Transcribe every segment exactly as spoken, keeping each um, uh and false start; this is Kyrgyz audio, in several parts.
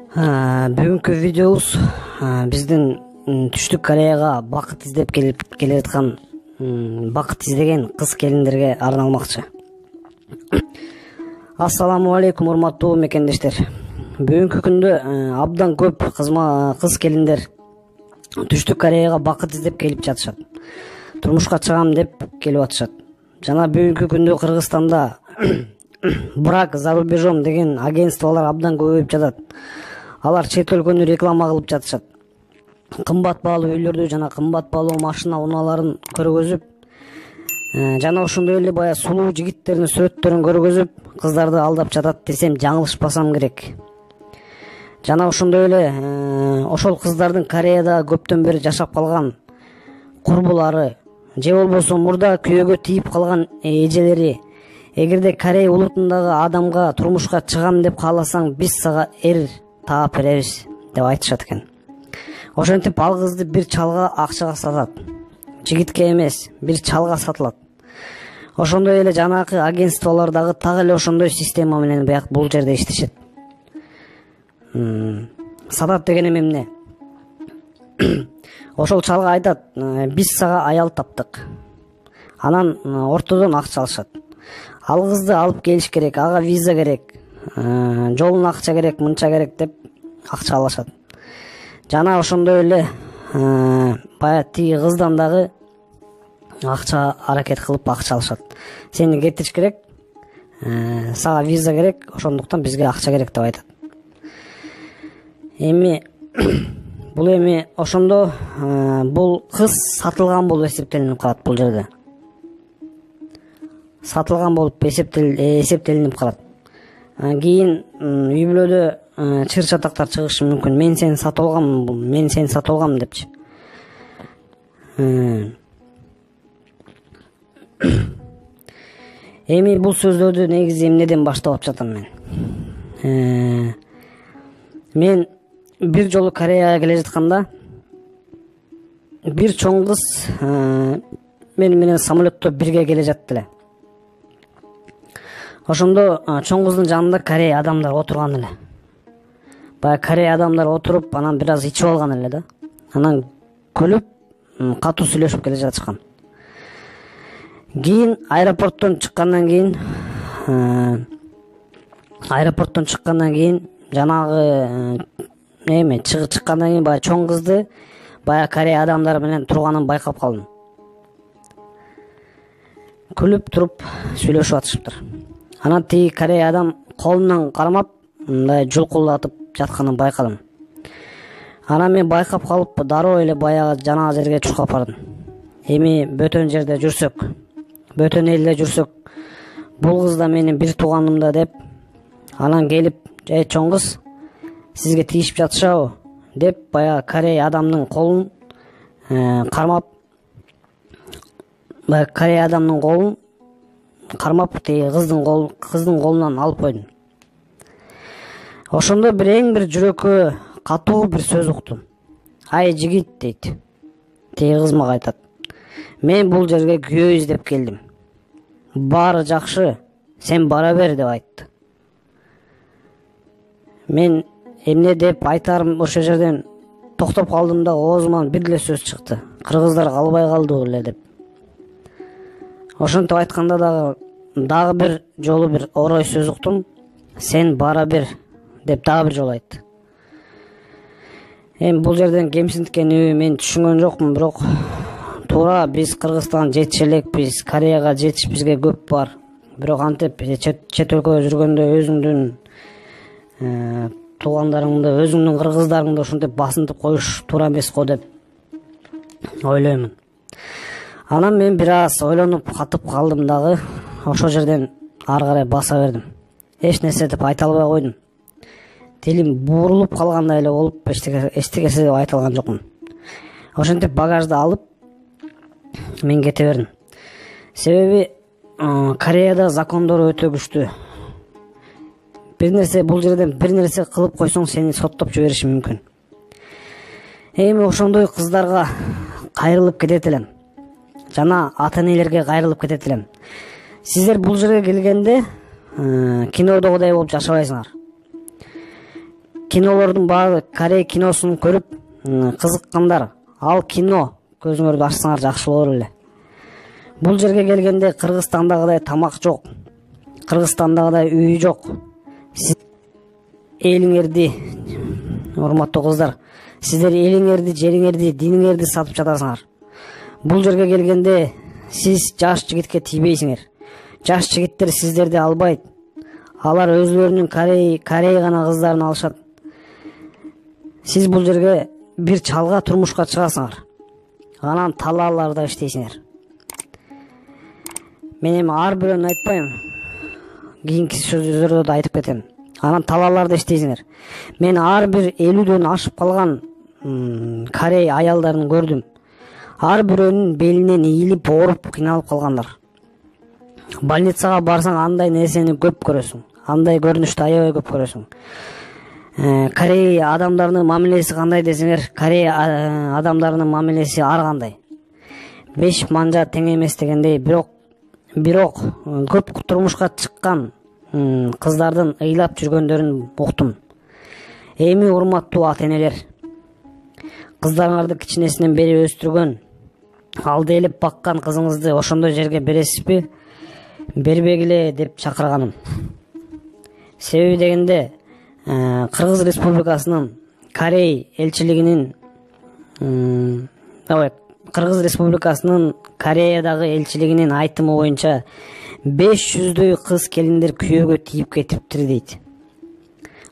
Бүгүнкү видеобуз биздин Түштүк Кореяга бакыт издеп келип келе жаткан бакыт издеген кыз келиндерге арналмакчы. Ассаламу алейкум, урматтуу мекендештер. Бүгүнкү күндө абдан көп кыз келиндер Түштүк Кореяга бакыт издеп келип жатышат. Турмушка чыгам деп келип атышат. Жана бүгүнкү күндө Кыргызстанда брак за рубежом деген агентстволор абдан көбөйүп жатат. Алар чет өлкөнү реклама кылып жатышат. Кымбат баалуу үйлөрдү жана кымбат баалуу машина унааларын көргөзүп, жана ошондой эле бая сулуу жигиттердин сүрөттөрүн көргөзүп, кыздарды алдап жатат десем жаңылышпасам керек. Жана ошондой эле ошол кыздардын Кореяда көптөн бери жашап калган курбулары же болбосо мурда күйөөгө тийип калган эжелери, эгерде Корея улутундагы адамга турмушка чыгам деп кааласаң, биз сага эр таап беребиз деп айтышат экен. Ошентип ал кызды бир чалга акчага сатат. Жигитке эмес, бир чалга сатылат. Ошондой эле жанакы агентстволордагы так эле ошондой система менен бияк бул жерде иштешет. Сатат дегеним эмне? Ошол чалга айтат, биз сага аял таптык. Анан ортодон акча алышат. Ал кызды алып келиш керек, ага виза керек, жолуна акча керек, мынча керек деп акча алышат. Жана ошондой эле бая тиги кыздан дагы акча аракет кылып акча алышат. Сени кетириш керек, сага виза керек, ошондуктан бизге акча керек деп айтат. Эми бул эми ошондо бул кыз сатылган болуп эсептелинип калат бул жерде. Сатылган болуп эсептелинип калат. Кийин үй бүлөдө чыр чатактар чыгышы мүмкүн. Мен сени сатып алгам, мен сени сатып алгам депчи. Эми бул сөздөрдү негизи эмнеден баштап жатам мен? Мен бир жолу Кореяга келе жатканда бир чоң кыз мен менен самолетто бирге келе жатты эле. Ошондо чоң кыздын жанында Корея адамдар отурган эле. Бая Корея адамдар отуруп, анан бир аз ичип алган эле да. Анан күлүп, катуу сүйлөшүп келе жатышкан. Кийин аэропорттон чыккандан кийин аэропорттон чыккандан кийин жанагы эме чыккандан кийин бая чоң кызды бая Корея адамдары менен турганын байкап калдым. Күлүп туруп сүйлөшүп атышыптыр. Анан тиги Корея адам колунан кармап, мындай жулкулдатып жатканын байкадым. Анан мен байкап калып, дароо эле баягы жанагы жерге чуркап бардым. Эми бөтөн жерде жүрсөк, бөтөн элде жүрсөк, бул кыз да менин бир тууганым да деп, анан келип, "Эй чоң кыз, сизге тийишип жатышабы?" деп баягы Корея адамдын колун кармап, баягы Корея адамдын колун кармап, тиги кыздын кол кыздын колунан алып койдум. Ошондо бир эң бир жүрөккө катуу бир сөз уктум. "Ай жигит" дейт. Тиги кыз мага айтат. "Мен бул жерге күйөө издеп келдим. Баары жакшы, сен бара бер" деп айтты. Мен эмне деп айтарым ошол жерден токтоп калдым да оозуман бир эле сөз чыкты. "Кыргыздар калбай калды эле" деп. Ошентип айтканда дагы дагы бир жолу бир орой сөз уктум. "Сен бара бер" деп дагы бир жолу айтты. Эми бул жерден кемсинткени мен түшүнгөн жокмун, бирок туура биз Кыргызстанга жетише элекпиз, Кореяга жетиш бизге көп бар. Бирок антип чет өлкөдө жүргөндө өзүңдүн туугандарыңды, өзүңдүн кыргыздарыңды ошентип басынтып коюш туура эмес го деп ойлоймун. Анан мен бир аз ойлонуп катып калдым дагы, ошол жерден ары карай баса бердим. Эч нерсе деп айта албай койдум. Тилим буурулуп калгандай эле болуп, эчтекеси деп айта алган жокмун. Ошентип багажды алып мен кете бердим. Себеби Кореяда закондор өтө күчтүү. Бир нерсе бул жерден бир нерсе кылып койсоң, сени соттоп жибериши мүмкүн. Эми ошондой кыздарга кайрылып кетет элем. Жана ата-энелерге кайрылып кетет элем. Сиздер бул жерге келгенде кинодогудай болуп жашабайсыңар. кинолордун баары Корей киносун көрүп кызыккандар ал кино көзүңөрдү ачсаңар жакшы болор эле. Бул жерге келгенде Кыргызстандагыдай тамак жок, Кыргызстандагыдай үй жок. Сиз элиңерди, урматтуу кыздар, сиздер элиңерди, жериңерди, диниңерди сатып жатасыңар. Бул жерге келгенде сиз жаш жигитке тийбейсиңер. Жаш жигиттер сиздерди албайт. Алар өзлөрүнүн Корей, Корей гана кыздарын алышат. Сиз бул жерге бир чалга турмушка чыгасыңар. Анан талааларда иштейсиңер. Мен эми ар бирөөнү айтпайм. Кийинки сөздөрдө да айтып кетем. Анан талааларда иштейсиңер. Мен ар бир элүүдөн ашып калган Корей аялдарын көрдүм. Ар бирөөнүн белинен ийилип, ооруп, кыйналып калгандар. Больницага барсаң андай нерсени көп көрөсүң. Андай көрүнүштү аябай көп көрөсүң. Корей адамдарынын мамилеси кандай десеңер, Корей адамдарынын мамилеси ар кандай. Беш манжа тең эмес дегендей, бирок бирок көп турмушка чыккан кыздардын ыйлап жүргөндөрүн уктум. Эми урматтуу ата-энелер, кыздарыңарды кичинесинен бери өстүргөн, алдайлап баккан кызыңызды ошондой жерге бересизби? Бербегиле деп чакырганым. Себеби дегенде Кыргыз Республикасынын Корей элчилигинин ой, Кыргыз Республикасынын Кореядагы элчилигинин айтымы боюнча беш жүздөй кыз келиндер күйөөгө тийип кетиптир дейт.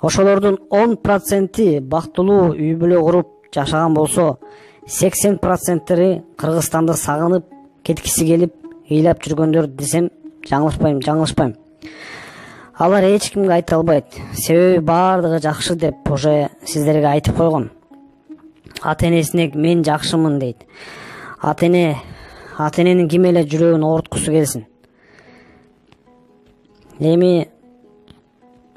Ошолордун он проценти бактылуу үй бүлө куруп жашаган болсо, сексен проценттери Кыргызстанды сагынып кеткиси келип ыйлап жүргөндөр десем жаңылышпайм, жаңылышпайм. Алар эч кимге айта албайт. Себеби баардыгы жакшы деп уже сиздерге айтып койгом. Ата-энесине мен жакшымын дейт. Ата-эне, ата-эненин ким эле жүрөгүн ооруткусу келсин. Эми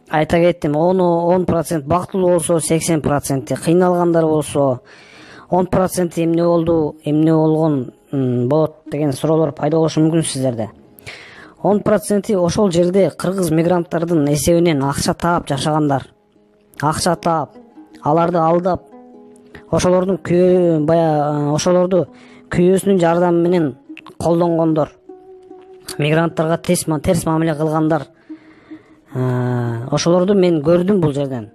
айта кеттим, он процент бактылуу болсо, сексен проценти кыйналгандар болсо, он проценти эмне болду, эмне болгон болот деген суроолор пайда болушу мүмкүн сиздерде. он проценти ошол жерде кыргыз мигранттардын эсебинен акча таап жашагандар. Акча таап, аларды алдап, ошолордун күйөө бая ошолорду күйөөсүнүн жардамы менен колдонгондор. Мигранттарга терс терс мамиле кылгандар. Ошолорду мен көрдүм бул жерден.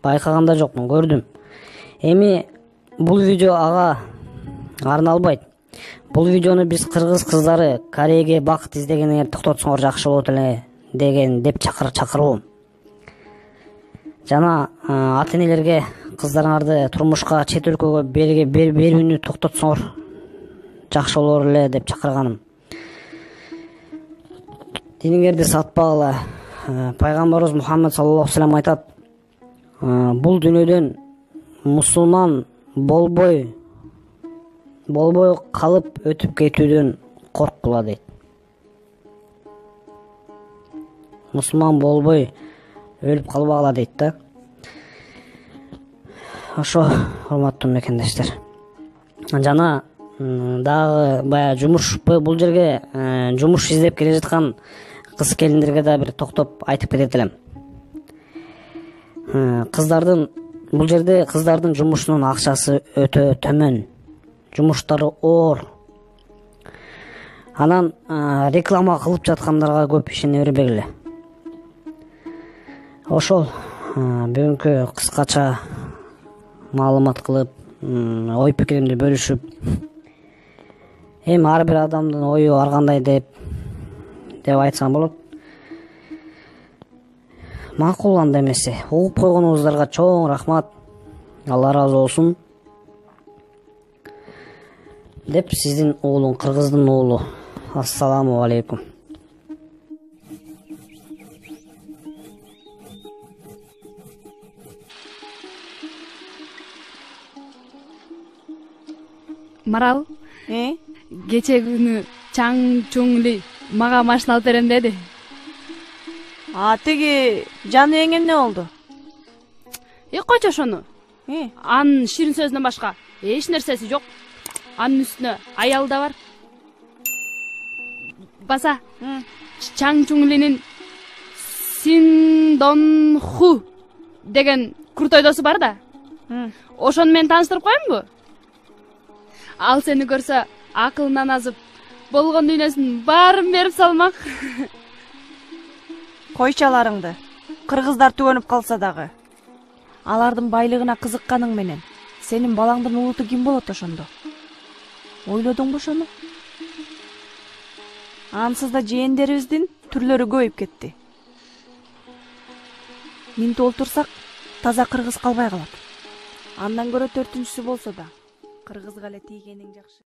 Байкаганда жокмун, көрдүм. Эми бул видео ага арналбайт. Бул видеону биз кыргыз кыздары Корейге бакыт издегениңер токтотсоңор жакшы болот эле деген деп чакыр чакырбам. Жана ата-энелерге кыздарыңарды турмушка чет өлкөгө берүүнү токтотсоңор жакшы болор эле деп чакырганым. Диниңерди сатпагыла. Пайгамбарыбыз Мухаммад саллаллаху алейхи ва саллям айтат: бул дүйнөдөн мусулман болбой болбой калып өтүп кетүүдөн корккула дейт. Мусулман болбой өлүп калбагыла дейт да. Ошо, урматтуу мекендештер. Жана дагы бая жумуш, бул жерге жумуш издеп келе жаткан кыз келиндерге да бир токтоп айтып кетет элем. Кыздардын бул жерде кыздардын жумушунун акчасы өтө төмөн. Жумуштары оор. Анан реклама кылып жаткандарга көп ишене бербегиле. Ошол бүгүнкү кыскача маалымат кылып, ой пикиримди бөлүшүп, эми ар бир адамдын ою ар кандай деп деп айтсам болот. Макул анда эмесе. Угуп койгонуңуздарга чоң рахмат. Алла ыраазы болсун. Деп сиздин уулуң, кыргыздын уулу. Ассаламу алейкум. Марал, Э? кече күнү Чаң Чуңли мага машина алып берем деди. А тиги жаныбек эмне болду? Э, койчу ошону. Э? Анын ширин сөзүнөн башка эч нерсеси жок. Анын үстүнө аял да бар. Баса Чаң Чуңлинин Синдон Ху деген крутой досу бар да. М, Ошону мен тааныштырып коеюнбу? Ал сени көрсө акылынан азып, болгон дүйнөсүнүн баарын берип салмак. койчу аларыңды. Кыргыздар түгөнүп калса дагы. Алардын байлыгына кызыкканың менен сенин балаңдын улуту ким болот ошондо? Ойлодуңбу ошону? Ансыз да жээндерибиздин түрлөрү көбөйүп кетти. Минтип олтурсак, таза кыргыз калбай калат. Андан көрө төртүнчүсү болсо да кыргызга эле тийгениң жакшы.